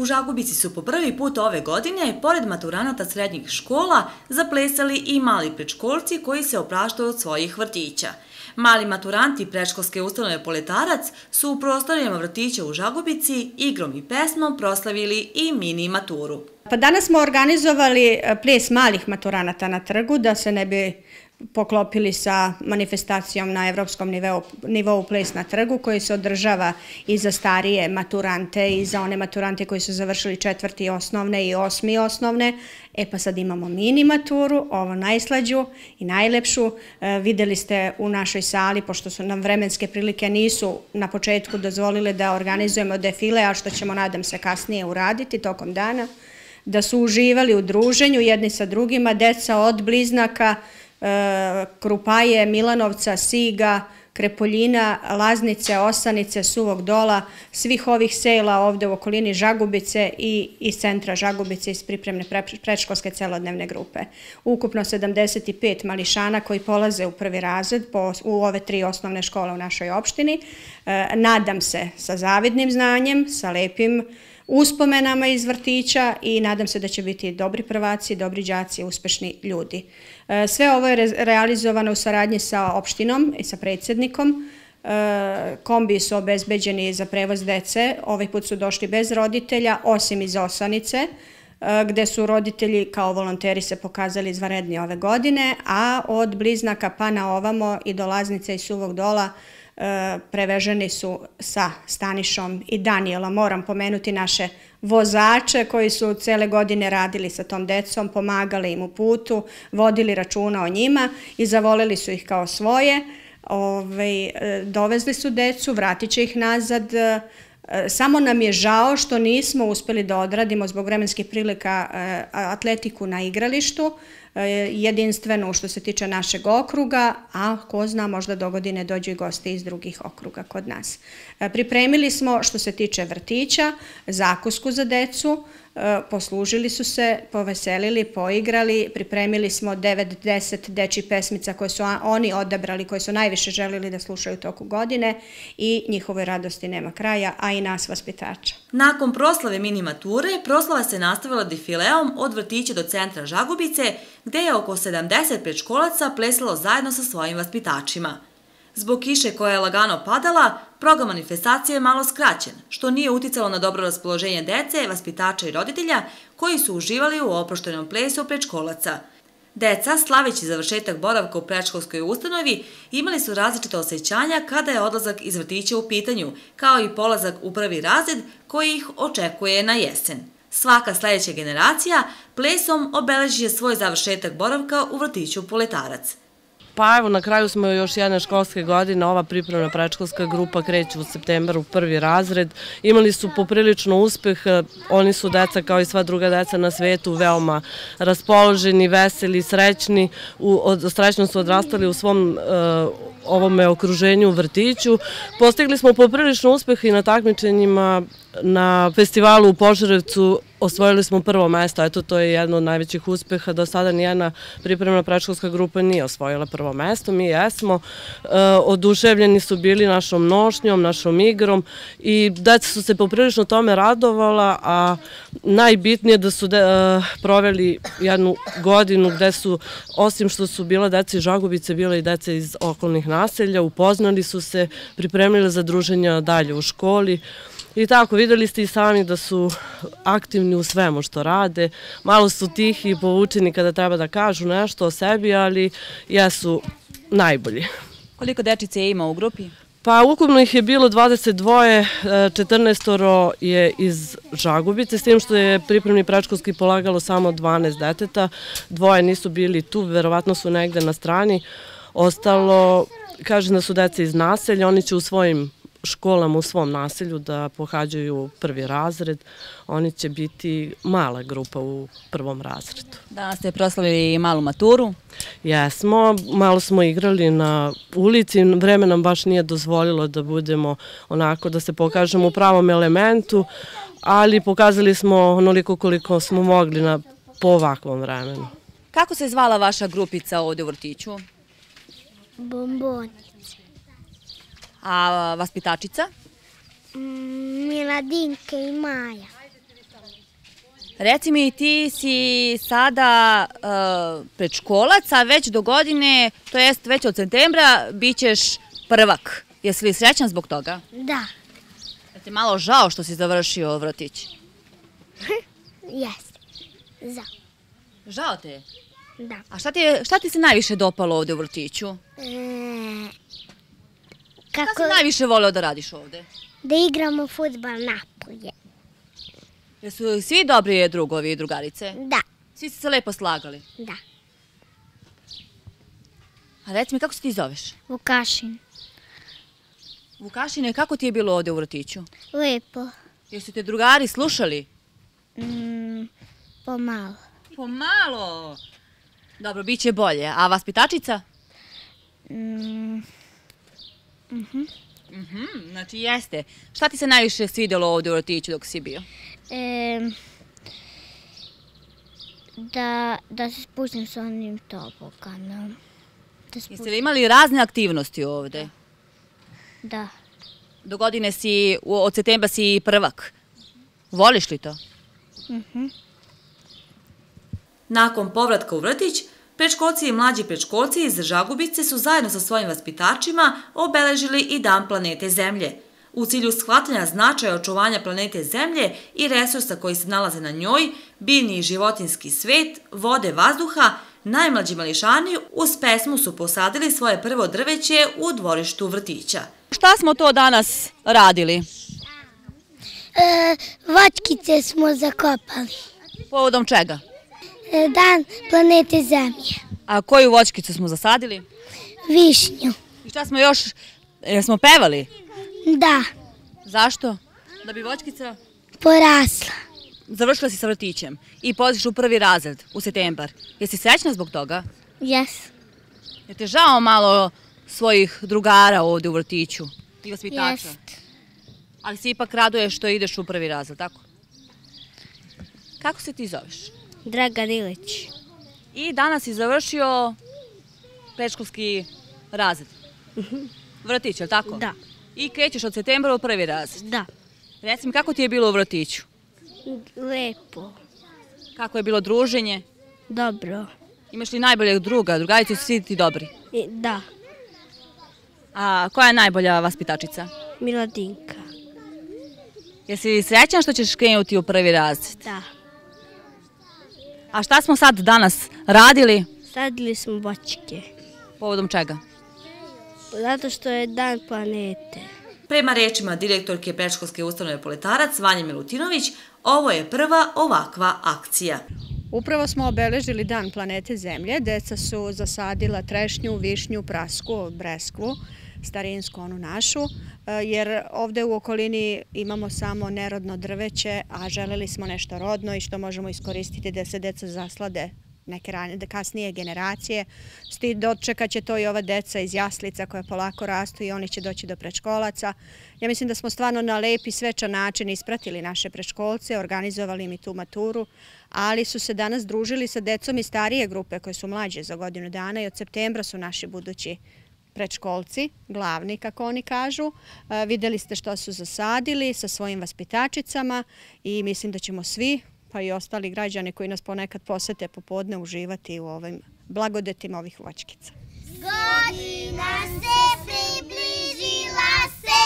U Žagubici su po prvi put ove godine, pored maturanata srednjih škola, zaplesali i mali predškolci koji se opraštaju od svojih vrtića. Mali maturanti predškolske ustanove Poletarac su u prostorijama vrtića u Žagubici igrom i pesmom proslavili i mini maturu. Pa danas smo organizovali ples malih maturanata na trgu da se ne bi poklopili sa manifestacijom na evropskom nivou ples na trgu koji se održava i za starije maturante i za one maturante koji su završili 4. osnovne i 8. osnovne. Pa sad imamo mini maturu, ovo najslađu i najlepšu. Videli ste u našoj sali, pošto su nam vremenske prilike nisu na početku dozvolile da organizujemo defile, a što ćemo nadam se kasnije uraditi tokom dana, da su uživali u druženju jedni sa drugima, deca od Bliznaka, Krupaje, Milanovca, Siga, Krepoljina, Laznice, Osanice, Suvog Dola, svih ovih sela ovde u okolini Žagubice i iz centra Žagubice iz pripremne predškolske celodnevne grupe. Ukupno 75 mališana koji polaze u prvi razred u ove 3 osnovne škole u našoj opštini. Nadam se sa zavidnim znanjem, sa lepim uspomenama iz vrtića i nadam se da će biti dobri prvaci, dobri đaci, uspešni ljudi. Sve ovo je realizovano u saradnji sa opštinom i sa predsjednikom. Kombi su obezbeđeni za prevoz dece. Ovaj put su došli bez roditelja, osim iz Osanice, gde su roditelji kao volonteri se pokazali izvanredni ove godine, a od Bliznaka pa na ovamo i do Laznice i Suvog Dola preveženi su sa Stanišom i Danijelom. Moram pomenuti naše vozače koji su cele godine radili sa tom decom, pomagali im u putu, vodili računa o njima i zavoleli su ih kao svoje. Dovezli su decu, vratit će ih nazad. Samo nam je žao što nismo uspeli da odradimo zbog vremenskih prilika atletiku na igralištu, jedinstvenu što se tiče našeg okruga, a ko zna možda dogodine dođu i gosti iz drugih okruga kod nas. Pripremili smo što se tiče vrtića, zakusku za decu, poslužili su se, poveselili, poigrali, pripremili smo 9-10 dečjih pesmica koje su oni odabrali, koje su najviše želili da slušaju toku godine i njihove radosti nema kraja, a i nas vaspitača. Nakon proslave mini mature, proslava se nastavila defileom od vrtića do centra Žagubice, gde je oko 70 predškolaca plesalo zajedno sa svojim vaspitačima. Zbog kiše koja je lagano padala, program manifestacije je malo skraćen, što nije uticalo na dobro raspoloženje dece, vaspitača i roditelja koji su uživali u oproštenom plesu predškolaca. Deca, slaveći završetak boravka u predškolskoj ustanovi, imali su različite osjećanja kada je odlazak iz vrtića u pitanju, kao i polazak u prvi razred koji ih očekuje na jesen. Svaka sledeća generacija plesom obeleži svoj završetak boravka u vrtiću Poletarac. Pa evo, na kraju smo još jedne školske godine, ova pripremna predškolska grupa kreće u septembru u prvi razred. Imali su poprilično uspeh, oni su deca kao i sva druga deca na svetu veoma raspoloženi, veseli, srećni, srećno su odrastali u svom ovome okruženju u vrtiću. Postigli smo poprilično uspeh i na takmičenjima na festivalu u Požarevcu. Osvojili smo prvo mesto, eto to je jedno od najvećih uspeha, do sada nijedna pripremna predškolska grupa nije osvojila prvo mesto, mi jesmo, oduševljeni su bili našom nošnjom, našom igrom i deca su se poprilično tome radovala, a najbitnije da su proveli jednu godinu gde su, osim što su bila deca iz Žagubice, bila i deca iz okolnih naselja, upoznali su se, pripremili za druženja dalje u školi. I tako, videli ste i sami da su aktivni u svemu što rade, malo su tihi i povučeni kada treba da kažu nešto o sebi, ali jesu najbolji. Koliko dečice ima u grupi? Pa ukupno ih je bilo 22, 14 je iz Žagubice, s tim što je pripremni predškolski polagalo samo 12 deteta, 2 nisu bili tu, verovatno su negde na strani, ostalo, kažem da su deca iz naselja, oni će u svojim školama u svom naselju da pohađaju prvi razred, oni će biti mala grupa u prvom razredu. Danas ste proslavili malu maturu? Jesmo, malo smo igrali na ulici, vreme nam baš nije dozvolilo da budemo onako, da se pokažemo u pravom elementu, ali pokazali smo onoliko koliko smo mogli po ovakvom vremenu. Kako se zvala vaša grupica ovde u vrtiću? Bomboni. A vaspitačica? Miladinka i Maja. Reci mi, ti si sada predškolac, a već do godine, to jest već od septembra, bit ćeš prvak. Jesi li srećan zbog toga? Da. Je ti malo žao što si završio vrtić? Jeste. Za. Žao te je? Da. A šta ti se najviše dopalo ovde u vrtiću? Šta Kako si najviše voleo da radiš ovde? da igramo fudbal napolje. Jesu svi dobri drugovi i drugarice? Da. Svi ste se lepo slagali. Da. A reci mi, kako se ti zoveš? Vukašin. Vukašine, kako ti je bilo ovde u vrtiću? Lepo. Jesu te drugari slušali? Pomalo. Pomalo. Dobro, bit će bolje. A vaspitačica? Znači jeste. Šta ti se najviše svidjelo ovde u vrtiću dok si bio? Da se spustim s onim toboganom. Jeste li imali razne aktivnosti ovde? Da. Do godine si, od septembra si prvak. Voliš li to? Nakon povratka u vrtić, predškolci i mlađi predškolci iz Žagubice su zajedno sa svojim vaspitačima obeležili i Dan planete Zemlje. U cilju shvatanja značaja očuvanja planete Zemlje i resursa koji se nalaze na njoj, biljni i životinjski svet, vode, vazduha, najmlađi mališani uz pesmu su posadili svoje prvo drveće u dvorištu vrtića. Šta smo to danas radili? Voćkice smo zakopali. Povodom čega? Dan planete Zemlje. A koju voćkicu smo zasadili? Višnju. I šta smo još, smo pevali? Da. Zašto? Da bi voćkica Porasla. završila si sa vrtićem i polaziš u prvi razred u septembar. Jesi srećna zbog toga? Jes. Je te žao malo svojih drugara ovde u vrtiću i vaspitača? Jest. Ali se ipak raduješ što ideš u prvi razred, tako? Kako se ti zoveš? Dragan Ilić. I danas si završio predškolski razred. Vrtić, je li tako? Da. I krećeš od septembra u prvi razred. Da. Reci mi, kako ti je bilo u vrtiću? Lepo. Kako je bilo druženje? Dobro. Imaš li najboljeg druga? Drugarice su svi ti dobri. Da. A koja je najbolja vaspitačica? Miladinka. Jesi srećan što ćeš krenuti u prvi razred? Da. A šta smo sad danas radili? Sadili smo voćke. Povodom čega? Zato što je dan planete. Prema rečima direktorke predškolske ustanove Poletarac Vanje Milutinović, ovo je prva ovakva akcija. Upravo smo obeležili Dan planete Zemlje. Deca su zasadila trešnju, višnju, prasku, breskvu, starinsku onu našu, jer ovde u okolini imamo samo nerodno drveće, a želeli smo nešto rodno i što možemo iskoristiti da se deca zaslade neke kasnije generacije. Dočekat će to i ova deca iz jaslica koja polako rastu i oni će doći do predškolaca. Ja mislim da smo stvarno na lep i svečan način ispratili naše predškolce, organizovali im i tu maturu, ali su se danas družili sa decom iz starije grupe koje su mlađe za godinu dana i od septembra su naši budući predškolci, glavni kako oni kažu. Videli ste što su zasadili sa svojim vaspitačicama i mislim da ćemo svi, pa i ostali građani koji nas ponekad posete popodne, uživati u ovim blagodetima ovih voćkica. Godina se približila se